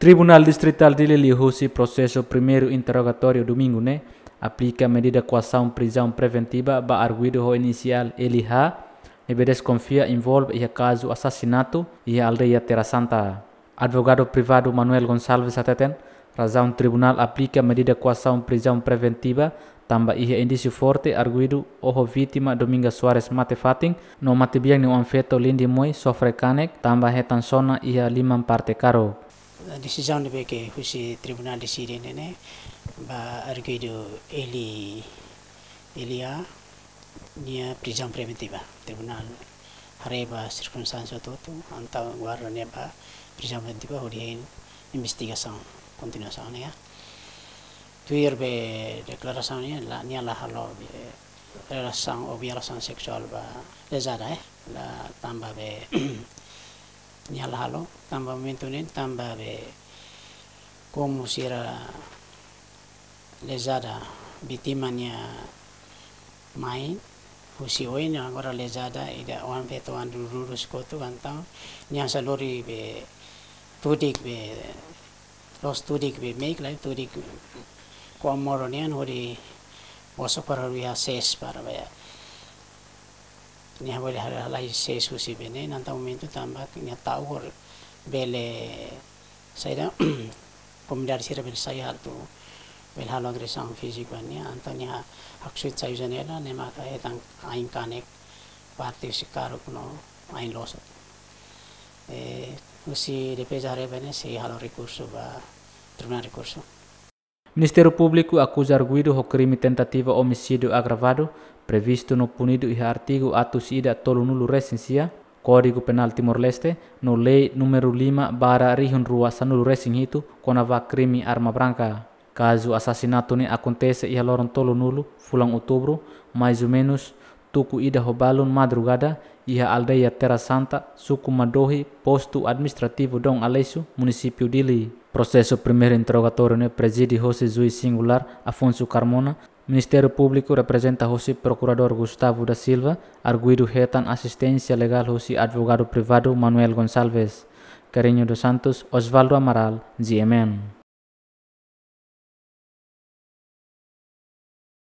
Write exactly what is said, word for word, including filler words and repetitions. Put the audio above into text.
Tribunál Distritál Dili liuhusi prosesu primeiru interrogatóriu domingu ne'e aplika medida koasaun prizaun preventiva ba arguidu ho inisiál L H, ne'ebé deskonfia envolve iha kazu asasinatu iha aldeia Terra Santa. Advogadu privadu Manuel Gonçalves hateten, razaun tribunál aplika medida koasaun prizaun preventiva tanba iha indísiu forte arguidu oho vítima Dominga Soares mate fatin, no matebian nia oan-feto Lindi Moi sofre kanek tanba hetan sona iha liman parte karuk. Desizaun ne'ebé ke husi tribunál deside ne'e, ne'e ba arguidu L, L H nia prizaun preventiva. Tribunál haree ba sirkunstánsia hotu-hotu, entaun guarda nia ba prizaun preventiva hodi hein investigasaun kontinuasaun ne'e. Tuir be deklarasaun ne'e la, nia la halo be relasaun ou violasaun seksuál ba lezada, eh, la tanba be nia la halo, tanba momentu ne'e, tanba be komu sira lezada vítima nia mai, husi oin agora lezada ida oan-feto oan dururus kotu, entaun nia hanesan lori be tudik be, loos tudik be meik lai, tudik ko'a modo nian hodi bosok para iha sees para be nia bele halai sees husi be ne'e, entaun momentu tanba nia ta'uk bele saida, komunidade sira bele sai atu bele halo agresaun fíziku ba nia, entaun nia haksoit sai janela, nia maka hetan ain kanek parte husi karuk no ain loos. Eh, husi defeza haree ba ne'e sei halo rekursu ba tribunál rekursu. Ministériu Públiku akuza arguidu ho krime tentativa omisídiu agravadu, previstu no punidu iha artigu atus ida tolunulu resin sia Kódigu Penál Timor-Leste, no Lei númeru lima barra rihun rua sanulu resin hitu, kona-ba krime arma branka. Kazu asasinatu ne'e akontese iha loron tolunulu fulan Outubru, mais ou menus tuku ida ho balun madrugada, iha aldeia Terra Santa, suku Madohi, postu administrativu Dom Aleixo, munisípiu Dili. Prosesu primeiru interrogatóriu ne'e prezide hosi juís singulár Afonso Carmona. Ministériu Públiku reprezenta hosi Prokuradór Gustavo da Silva, arguidu hetan asisténsia legál hosi advogadu privadu Manuel Gonçalves. Carreño dos Santos, Osvaldo Amaral, G M N.